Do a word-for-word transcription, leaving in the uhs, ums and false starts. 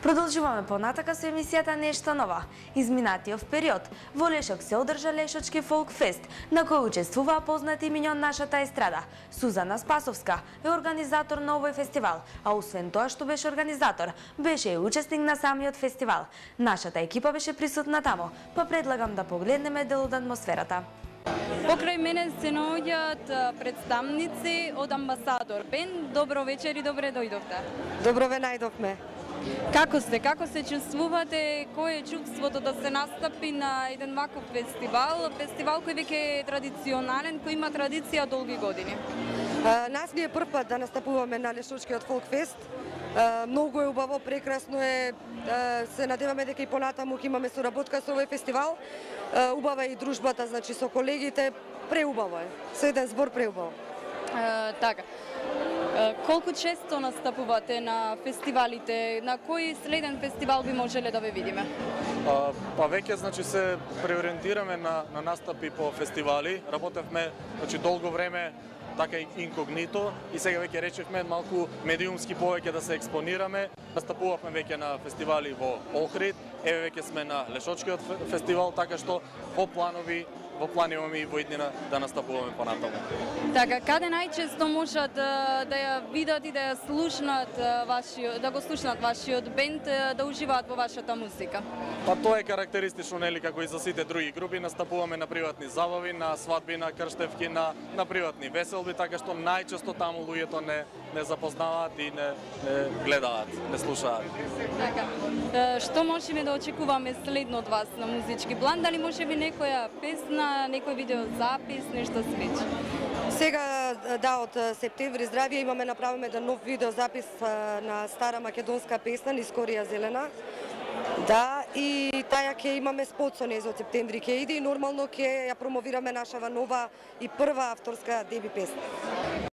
Продолжуваме понатака со емисијата Нешто ново. Изминатиот период во Лешок се одржа Лешочки фолк фест, на кој учествуваа познати имиња од нашата естрада. Сузана Спасовска е организатор на овој фестивал, а освен тоа што беше организатор, беше и учесник на самиот фестивал. Нашата екипа беше присутна тамо, па предлагам да погледнеме дел од атмосферата. Покрај мене се наоѓаат представници од Амбасадор Бенд. Добро вечер и добре дојдовте. Добро ве најдовме. Како сте? Како се чувствувате? Кој е чувството да се настапи на еден ваков фестивал? Фестивал кој веќе е традиционален, кој има традиција долги години. А, нас ни е прв пат да настапуваме на Лешочкиот фолк фест. А, многу е убаво, прекрасно е. А, се надеваме дека и понатаму ќе имаме соработка со овој фестивал. А, убава е и дружбата, значи со колегите, преубаво е. Со еден збор преубаво. А, така. Колку често настапувате на фестивалите? На кој следен фестивал би можеле да ве видиме? А, па веќе значи се преориентираме на на настапи по фестивали. Работевме значи долго време така и инкогнито и сега веќе речевме малку медиумски повеќе да се експонираме. Настапувавме веќе на фестивали во Охрид, еве веќе сме на Лешочкиот фестивал, така што во планови во план имаме и во иднина да настапуваме понатаму. Така, каде најчесто можат да, да ја видат и да ја слушнат вашиот, да го слушнат вашиот бенд, да уживаат во вашата музика? Па тоа е карактеристично, нели, како и за сите други групи, настапуваме на приватни забави, на свадби, на крштевки, на на приватни веселби, така што најчесто таму луѓето не не запознаваат и не, не гледаат, не слушаат. Така. Што можеме да очекуваме следно од вас на музички план? Дали може би некоја песна, некој видеозапис, нешто слично? Сега, да, од септември здравје имаме направиме да нов видеозапис на стара македонска песна Нискорија зелена. Да, и таја ќе имаме спот со нејзо од септември ќе иде и нормално ќе ја промовираме нашава нова и прва авторска деби песна.